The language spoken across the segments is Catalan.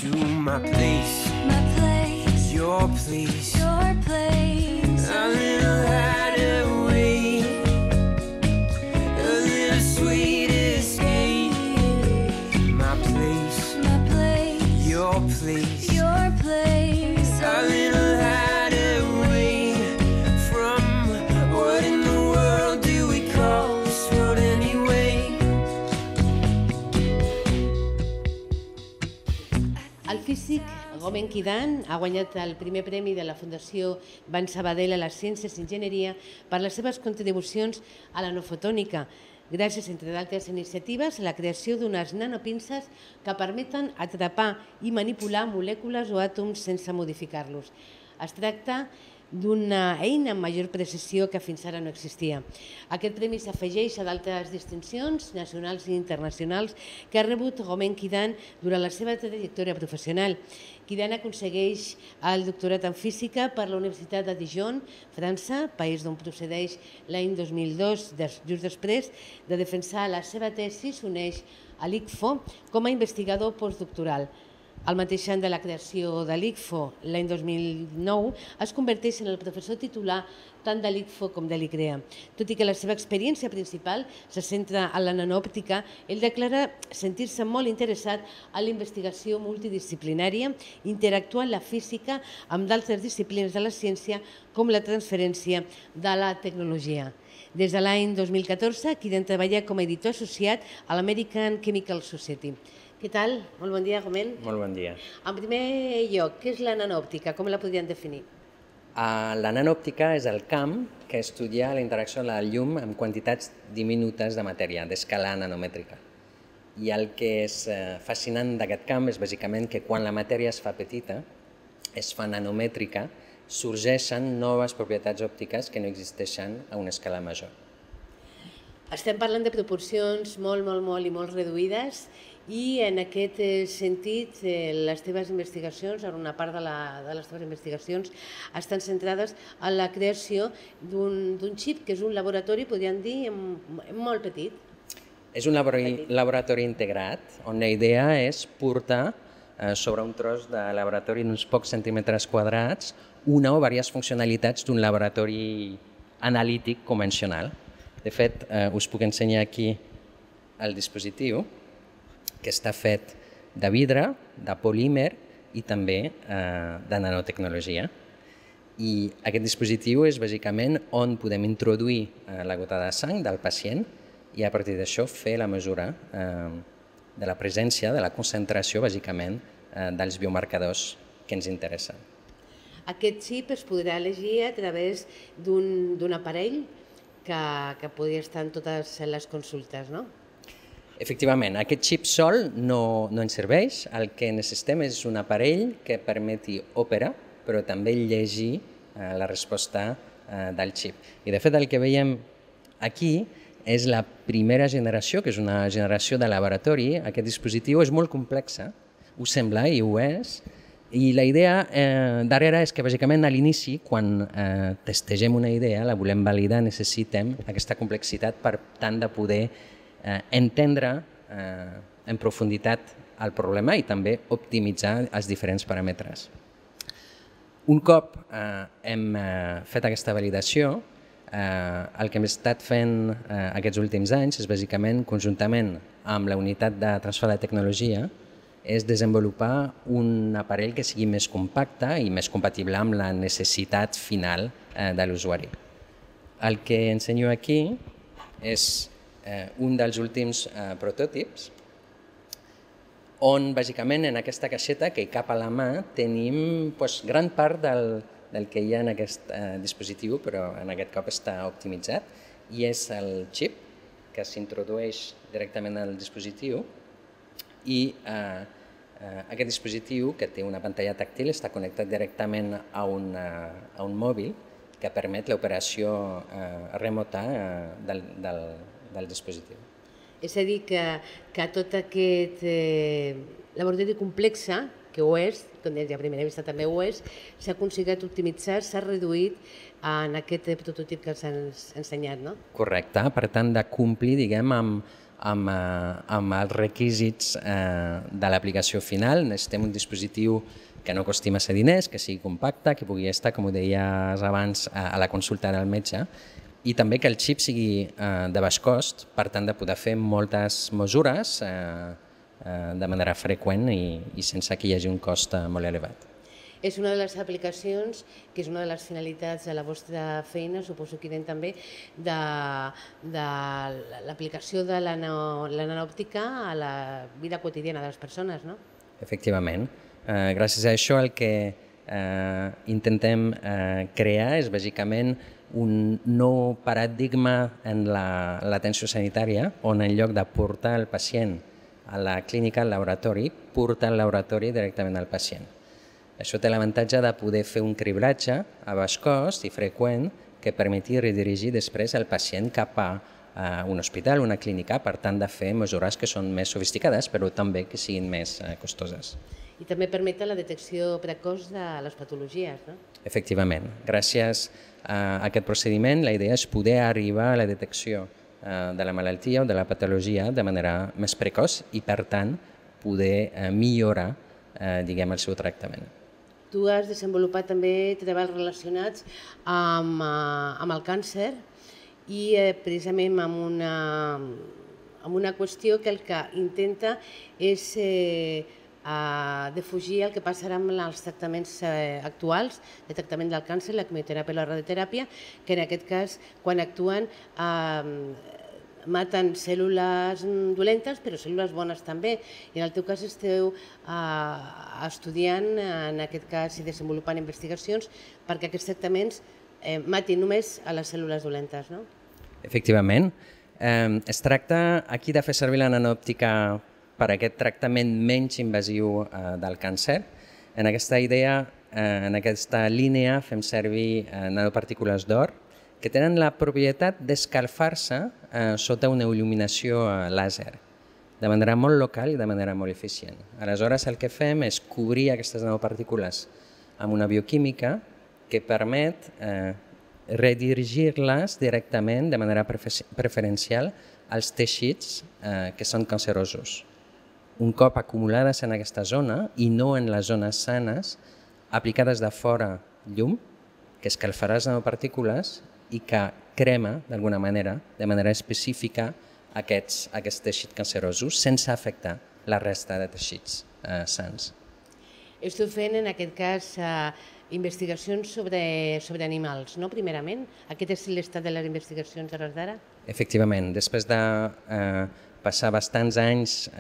to my place, your place, a little hideaway, a little sweet escape. My place, your place, a little hideaway from what in the world do we call this world anyway? El físic Gomen Kidan ha guanyat el primer premi de la Fundació Ban Sabadell a les Ciències i Enginyeria per les seves contribucions a la nanofotònica, gràcies, entre d'altres iniciatives, a la creació d'unes nanopinces que permeten atrapar i manipular molècules o àtoms sense modificar-los. Es tracta d'una eina amb major precisió que fins ara no existia. Aquest premi s'afegeix a d'altres distincions nacionals i internacionals que ha rebut Gomen Kidan durant la seva trajectòria professional. Kidan aconsegueix el doctorat en física per la Universitat de Dijon, França, país d'on procedeix l'any 2002, just després de defensar la seva tesi, s'uneix a l'ICFO com a investigador postdoctoral. Al mateix any de la creació de l'ICFO, l'any 2009, es converteix en el professor titular tant de l'ICFO com de l'ICREA. Tot i que la seva experiència principal se centra en la nanòptica, ell declara sentir-se molt interessat en la investigació multidisciplinària, interactuant la física amb d'altres disciplines de la ciència com la transferència de la tecnologia. Des de l'any 2014, Kidan treballa com a editor associat a l'American Chemical Society. Què tal? Molt bon dia, Gomen. Molt bon dia. En primer lloc, què és la nanòptica? Com la podríem definir? La nanòptica és el camp que estudia la interacció de la llum amb quantitats diminutes de matèria, d'escala nanomètrica. I el que és fascinant d'aquest camp és bàsicament que quan la matèria es fa petita, es fa nanomètrica, sorgeixen noves propietats òptiques que no existeixen a una escala major. Estem parlant de proporcions molt reduïdes i en aquest sentit les teves investigacions, una part de les teves investigacions estan centrades en la creació d'un xip que és un laboratori, podríem dir, molt petit. És un laboratori integrat on la idea és portar sobre un tros de laboratori d'uns pocs centímetres quadrats una o diverses funcionalitats d'un laboratori analític convencional. De fet, us puc ensenyar aquí el dispositiu, que està fet de vidre, de polímer i també de nanotecnologia. I aquest dispositiu és bàsicament on podem introduir la gota de sang del pacient i a partir d'això fer la mesura de la presència, de la concentració, bàsicament, dels biomarcadors que ens interessen. Aquest xip es podrà elegir a través d'un aparell que podria estar en totes les consultes, no? Efectivament, aquest xip sol no ens serveix. El que necessitem és un aparell que permeti òpera, però també llegir la resposta del xip. I de fet el que veiem aquí és la primera generació, que és una generació de laboratori. Aquest dispositiu és molt complex, ho sembla i ho és, i la idea darrere és que bàsicament a l'inici, quan testegem una idea, la volem validar, necessitem aquesta complexitat per tant de poder entendre en profunditat el problema i també optimitzar els diferents paràmetres. Un cop hem fet aquesta validació, el que hem estat fent aquests últims anys és bàsicament, conjuntament amb la unitat de transfer de tecnologia, és desenvolupar un aparell que sigui més compacte i més compatible amb la necessitat final de l'usuari. El que ensenyo aquí és un dels últims prototipis on, bàsicament, en aquesta caixeta que hi cap a la mà tenim gran part del que hi ha en aquest dispositiu, però en aquest cop està optimitzat, i és el xip que s'introdueix directament al dispositiu i aquest dispositiu, que té una pantalla tàctil, està connectat directament a un mòbil que permet l'operació remota del dispositiu. És a dir, que tot aquest laboratori complex, que ho és, com a primera vista també ho és, s'ha aconseguit optimitzar, s'ha reduït en aquest prototip que ens has ensenyat, no? Correcte, per tant de complir, diguem, amb els requisits de l'aplicació final. Necessitem un dispositiu que no costi massa diners, que sigui compacte, que pugui estar, com ho deies abans, a la consulta del metge, i també que el xip sigui de baix cost, per tant de poder fer moltes mesures de manera freqüent i sense que hi hagi un cost molt elevat. És una de les aplicacions, que és una de les finalitats de la vostra feina, suposo que també, de l'aplicació de la nanòptica a la vida quotidiana de les persones, no? Efectivament. Gràcies a això el que intentem crear és bàsicament un nou paradigma en l'atenció sanitària, on en lloc de portar el pacient a la clínica, al laboratori, porta el laboratori directament al pacient. Això té l'avantatge de poder fer un cribratge a baix cost i freqüent que permeti redirigir després el pacient cap a un hospital, una clínica, per tant de fer mesures que són més sofisticades però també que siguin més costoses. I també permet la detecció precoç de les patologies, no? Efectivament. Gràcies a aquest procediment la idea és poder arribar a la detecció de la malaltia o de la patologia de manera més precoç i per tant poder millorar el seu tractament. Tu has desenvolupat també treballs relacionats amb el càncer i precisament amb una qüestió que el que intenta és defugir el que passarà amb els tractaments actuals de tractament del càncer, la quimioteràpia i la radioteràpia, que en aquest cas, quan actuen, maten cèl·lules dolentes, però cèl·lules bones també. I en el teu cas esteu estudiant, en aquest cas, i desenvolupant investigacions perquè aquests tractaments matin només a les cèl·lules dolentes, no? Efectivament. Es tracta aquí de fer servir la nanòptica per a aquest tractament menys invasiu del càncer. En aquesta idea, en aquesta línia, fem servir nanopartícules d'or que tenen la propietat d'escalfar-se sota una il·luminació làser, de manera molt local i de manera molt eficient. Aleshores, el que fem és cobrir aquestes nanopartícules amb una bioquímica que permet redirigir-les directament de manera preferencial als teixits que són cancerosos. Un cop acumulades en aquesta zona i no en les zones sanes, aplicades de fora llum, que escalfarà les nanopartícules i que crema, d'alguna manera, de manera específica, aquests teixits cancerosos sense afectar la resta de teixits sants. Esteu fent, en aquest cas, investigacions sobre animals, no? Primerament, aquest és l'estat de les investigacions a l'hora d'ara? Efectivament, després de passar bastants anys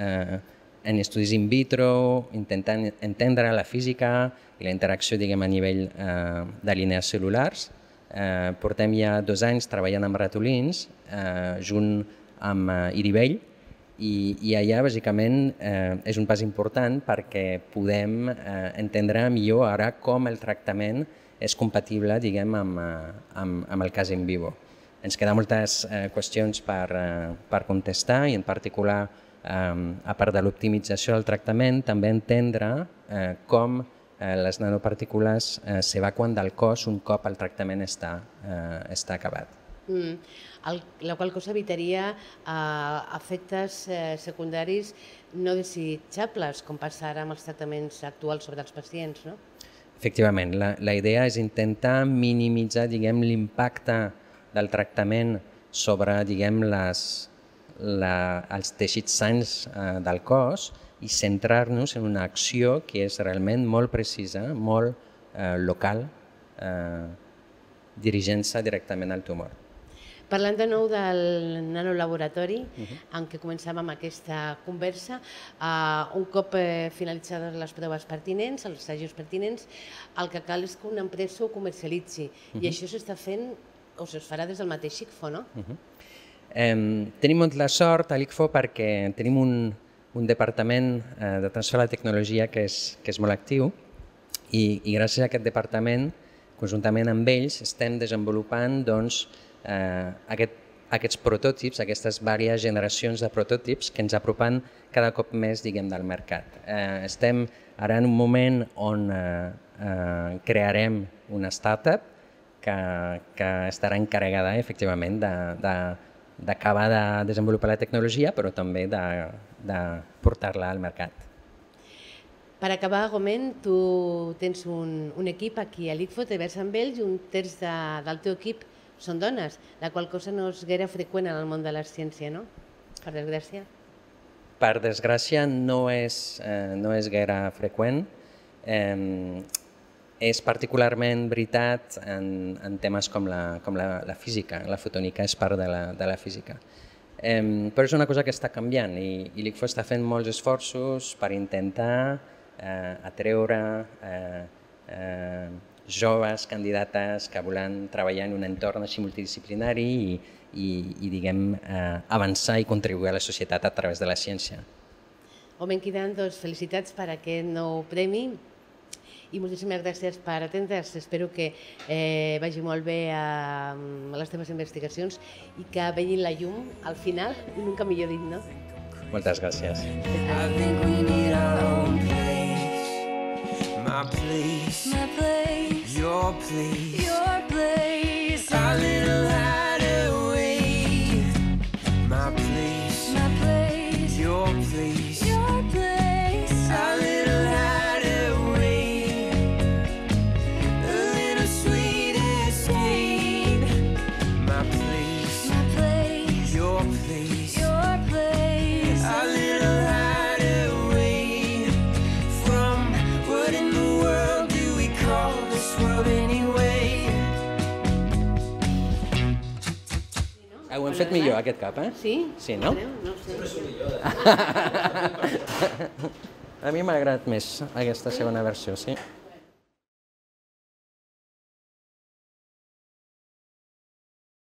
en estudis in vitro, intentant entendre la física i la interacció a nivell de línies cel·lulars, portem ja 2 anys treballant amb ratolins, junt amb Iribell, i allà bàsicament és un pas important perquè podem entendre millor ara com el tractament és compatible amb el cas in vivo. Ens queden moltes qüestions per contestar i en particular, a part de l'optimització del tractament, també entendre com les nanopartícules s'evacuen del cos un cop el tractament està acabat. La qual cosa evitaria efectes secundaris no desitjables, com passa ara amb els tractaments actuals sobre els pacients, no? Efectivament, la idea és intentar minimitzar l'impacte del tractament sobre els teixits sans del cos i centrar-nos en una acció que és realment molt precisa, molt local, dirigint-se directament al tumor. Parlant de nou del nanolaboratori, en què començàvem aquesta conversa, un cop finalitzades les proves pertinents, els assajos pertinents, el que cal és que una empresa ho comercialitzi. I això s'està fent, o es farà des del mateix ICFO, no? Tenim molta sort a l'ICFO perquè tenim un departament de transfer a la tecnologia que és molt actiu i gràcies a aquest departament, conjuntament amb ells, estem desenvolupant aquests prototipis, aquestes diverses generacions de prototipis que ens apropen cada cop més del mercat. Estem ara en un moment on crearem una startup que estarà encarregada efectivament d'acabar de desenvolupar la tecnologia, però també de portar-la al mercat. Per acabar, Gomen, tu tens un equip aquí a l'ICFO, treballes amb ells i un terç del teu equip són dones, la qual cosa no és gaire freqüent en el món de la ciència, no? Per desgràcia. Per desgràcia no és gaire freqüent. És particularment veritat en temes com la física. La fotònica és part de la física. Però és una cosa que està canviant i l'ICFO està fent molts esforços per intentar atreure joves candidates que volen treballar en un entorn així multidisciplinari i diguem, avançar i contribuir a la societat a través de la ciència. Gomen Kidan, doncs felicitats per aquest nou premi i moltíssimes gràcies per atendre's. Espero que vagi molt bé a les teves investigacions i que vegin la llum al final, i nunca millor dit, no? Moltes gràcies. I think we need our own place. My place, your place, our little hideaway. My place, your place, our little hideaway. A little sweet escape. My place, your place, our little hideaway from what in the world do we call this world anyway? Ho hem fet millor aquest cap, eh? Sí? Sí, no? No sé. A mi m'ha agradat més aquesta segona versió, sí.